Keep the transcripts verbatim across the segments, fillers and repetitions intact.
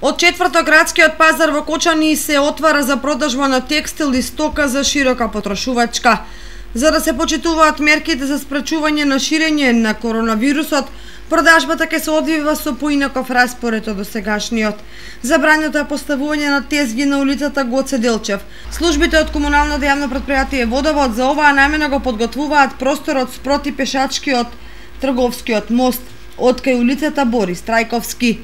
Од четврток градскиот пазар во Кочани се отвара за продажба на текстил и стока за широка потрошувачка. За да се почитуваат мерките за спречување на ширење на коронавирусот, продажбата ќе се одвива со поинаков распоред од досегашниот. Забрането е поставување на тезги на улицата Гоце Делчев. Службите од комуналното јавно претпријатие Водовод за оваа намена го подготвуваат просторот спроти пешачкиот трговскиот мост од кај улицата Борис Трајковски.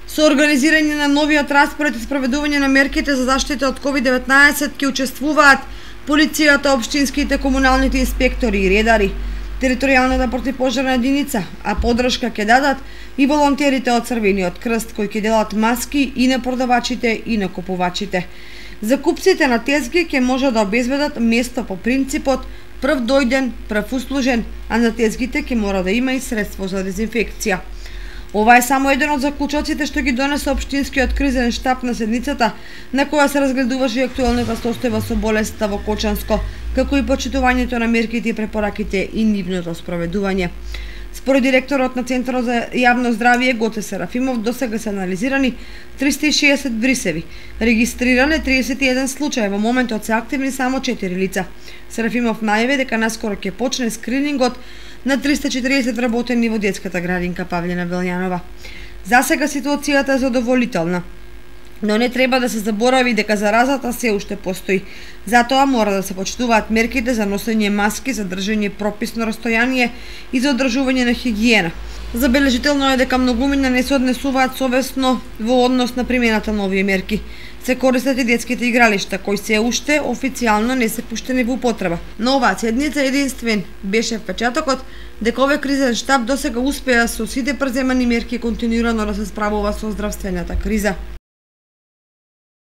Со организирање на новиот распоред и спроведување на мерките за заштита од ковид деветнаесет ќе учествуваат полицијата, општинските, комуналните инспектори и редари, територијалната противпожарна единица, а подршка ќе дадат и волонтерите од Црвениот крст кои ќе делат маски и на продавачите и на купувачите. Закупците на тезги ќе може да обезбедат место по принципот прв дојден, прв услужен, а на тезгите ќе мора да има и средство за дезинфекција. Ова е само еден од заклучоците што ги донесе општинскиот кризен штаб на седницата, на која се разгледуваше и актуелната состојба со болеста во Кочанско, како и почитувањето на мерките и препораките и нивното спроведување. Според директорот на Центарот за јавно здравје Гоце Серафимов, досега се анализирани триста и шеесет брисеви, регистриране триесет и еден случаи, во моментот се активни само четири лица. Серафимов најави дека наскоро ќе почне скринингот на триста и четириесет вработени во детската градинка Павлина Велјанова. За сега ситуацијата е задоволителна, но не треба да се заборави дека заразата се уште постои. Затоа мора да се почитуваат мерките за носење маски, за држење прописно растојание и за одржување на хигиена. Забележително е дека многумина не се однесуваат совесно во однос на примената на овие мерки. Се користат и детските игралишта, кои се уште официјално не се пуштени во употреба. Но оваа седница единствен беше впечатокот дека овој кризен штаб досега успеа со сите преземани мерки континуирано да се справува со здравствената криза.